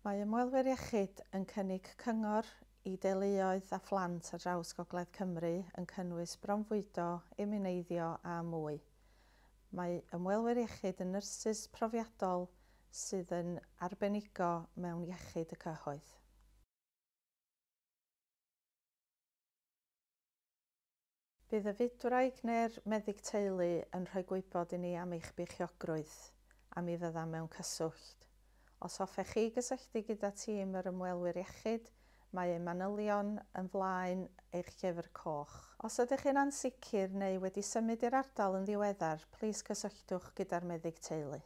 Mae ymwelwyr iechyd yn cynnig cyngor i deuluoedd a phlant ar draws Gogledd Cymru yn cynnwys bronfwydo, imiwneiddio a mwy. Mae ymwelwyr iechyd yn nyrsys profiadol sydd yn arbenigo mewn iechyd y cyhoedd. Bydd y fydwraig neu'r meddyg teulu yn rhoi gwybod i ni am eich beichiogrwydd a mi fyddam mewn cyswllt. Os hoffech chi gysylltu gyda tîm yr ymwelwyr iechyd, mae eu manylion yn flaen eich llyfr coch. Os ydych chi'n ansicr neu wedi symud i'r ardal yn ddiweddar, plîs cysylltwch gyda'r meddyg teulu.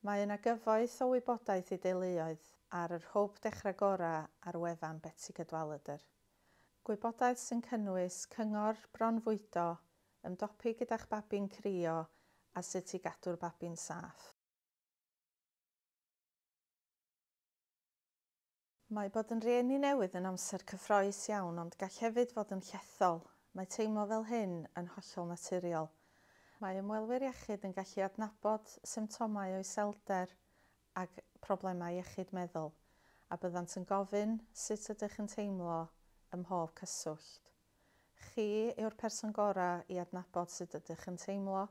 Mae yna gyfoeth o wybodaeth i deuluoedd ar yr Hwb Dechrau Gorau ar wefan Betsi Cadwaladr. Gwybodaeth sy'n cynnwys cyngor bronfwydo, ymdopi gyda'ch babi'n crio a sut i gadw'r babi'n saff. Mae bod yn rieni newydd yn amser cyffrous iawn ond gall hefyd fod yn llethol. Mae teimlo fel hyn yn hollol naturiol. Mae ymwelwyr iechyd yn gallu adnabod symptomau o iselder ac problemau iechyd meddwl, a byddant yn gofyn sut ydych yn teimlo ym mhob cyswllt. Chi yw'r person gorau i adnabod sut ydych yn teimlo.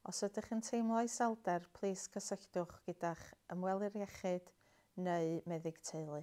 Os ydych yn teimlo iselder, plîs cysylltwch gyda'ch ymwelydd iechyd neu meddyg teulu.